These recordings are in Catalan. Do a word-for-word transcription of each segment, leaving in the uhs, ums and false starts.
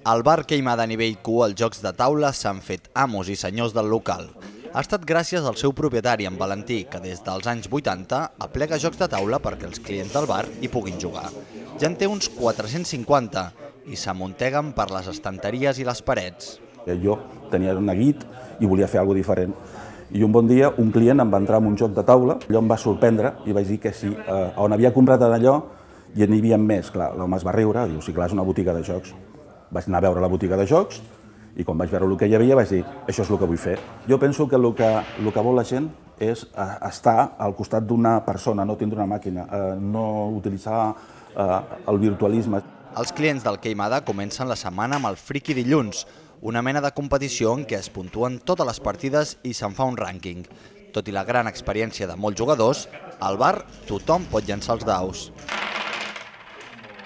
Al bar Queimada a nivell Q, els jocs de taula s'han fet amos i senyors del local. Ha estat gràcies al seu propietari, en Valentí, que des dels anys vuitanta aplega jocs de taula perquè els clients del bar hi puguin jugar. Ja en té uns quatre-cents cinquanta i s'amunteguen per les estanteries i les parets. Jo tenia una guit i volia fer alguna cosa diferent. I un bon dia un client em va entrar en un joc de taula, allò em va sorprendre i vaig dir que sí, eh, on havia comprat allò i n'hi havia més. Clar, l'home es va riure, diu, sí, clar, és una botiga de jocs. Vaig anar a veure la botiga de jocs i quan vaig veure el que hi havia vaig dir, això és el que vull fer. Jo penso que el que, el que vol la gent és estar al costat d'una persona, no tindre una màquina, eh, no utilitzar eh, el virtualisme. Els clients del Queimada comencen la setmana amb el Friki Dilluns, una mena de competició en què es puntuen totes les partides i se'n fa un rànquing. Tot i la gran experiència de molts jugadors, al bar tothom pot llançar els daus.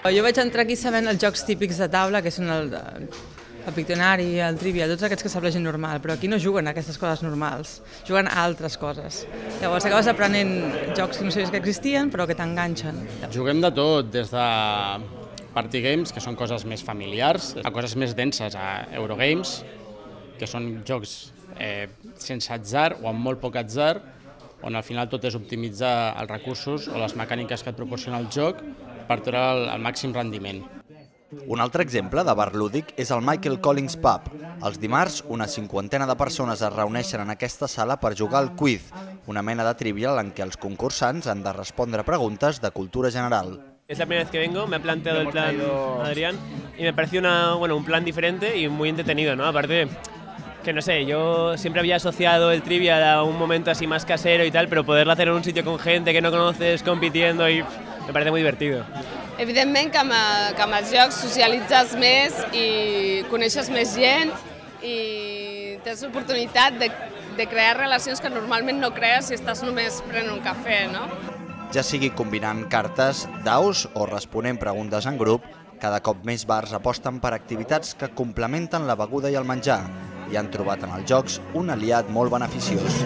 Jo vaig entrar aquí sabent els jocs típics de taula, que són el, el Pictionary, el Trivial, tots aquests que sap la gent normal, però aquí no juguen a aquestes coses normals, juguen a altres coses. Llavors acabes aprenent jocs que no sabies que existien, però que t'enganxen. Juguem de tot, des de party games, que són coses més familiars, a coses més denses, a Eurogames, que són jocs eh, sense atzar o amb molt poc atzar, on al final tot és optimitzar els recursos o les mecàniques que et proporciona el joc per treure el, el màxim rendiment. Un altre exemple de bar lúdic és el Michael Collins Pub. Els dimarts, una cinquantena de persones es reuneixen en aquesta sala per jugar al quiz, una mena de trivial en què els concursants han de respondre preguntes de cultura general. Es la primera vez que vengo, me ha planteado el plan Adrián y me pareció una, bueno, un plan diferente y muy entretenido, ¿no? Aparte, que no sé, yo siempre había asociado el Trivial a un momento así más casero y tal, pero poderlo hacer en un sitio con gente que no conoces, compitiendo, y me parece muy divertido. Evidentment que amb, que amb els jocs socialitzes més i coneixes més gent i tens l'oportunitat de, de crear relacions que normalment no crees si estàs només prenent un cafè, no? Ja sigui combinant cartes, daus o responent preguntes en grup, cada cop més bars aposten per activitats que complementen la beguda i el menjar i han trobat en els jocs un aliat molt beneficiós.